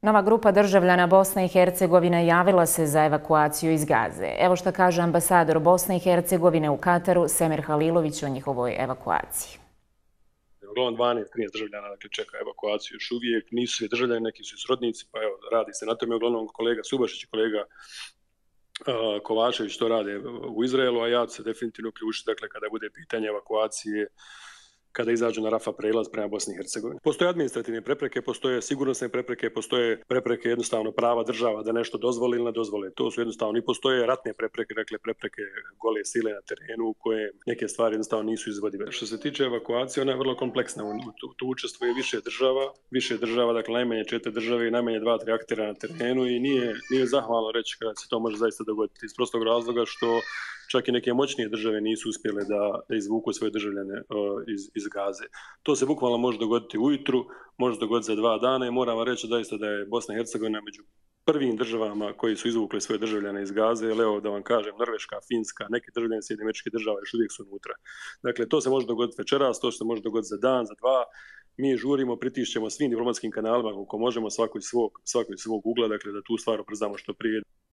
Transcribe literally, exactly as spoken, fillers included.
Nova grupa državljana Bosne i Hercegovine javila se za evakuaciju iz Gaze. Evo što kaže ambasador Bosne i Hercegovine u Kataru, Semir Halilović, o njihovoj evakuaciji. Uglavnom dvanaest trinaest državljana dakle, čeka evakuaciju još uvijek. Nisu svi državljani, neki su srodnici, pa evo, radi se na tome. Uglavnom kolega Subašić i kolega uh, Kovačević to rade u Izraelu, a ja ću se definitivno uključiti dakle, kada bude pitanje evakuacije, kada izađu na Rafa prelaz prema Bosni i Hercegovini. Postoje administrativne prepreke, postoje sigurnosne prepreke, postoje prepreke jednostavno prava država da nešto dozvoli ili ne dozvoli. To su jednostavno i postoje ratne prepreke, dakle prepreke gole sile na terenu u koje neke stvari jednostavno nisu izvodive. Što se tiče evakuacije, ona je vrlo kompleksna. Tu, tu učestvuje više država, više država, dakle najmanje četiri države i najmanje dva, tri aktera na terenu i nije, nije zahvalno reći kada se to može zaista dogoditi iz prostog razloga što čak i neke moćnije države nisu uspjele da, da izvuku svoje državljane uh, iz, iz Gaze. To se bukvalno može dogoditi ujutru, može se dogoditi za dva dana i moram vam reći zaista da je Bosna i Hercegovina među prvim državama koji su izvukli svoje državljane iz Gaze, jer evo da vam kažem, Norveška, Finska, neki državljani Sjedinjenih Američkih Država još uvijek su unutra. Dakle, to se može dogoditi večeras, to se može dogoditi za dan, za dva. Mi žurimo, pritišćemo svim diplomatskim kanalima koliko možemo svakoj svog, svakoj svog ugla, dakle da tu stvar ubrzamo što prije.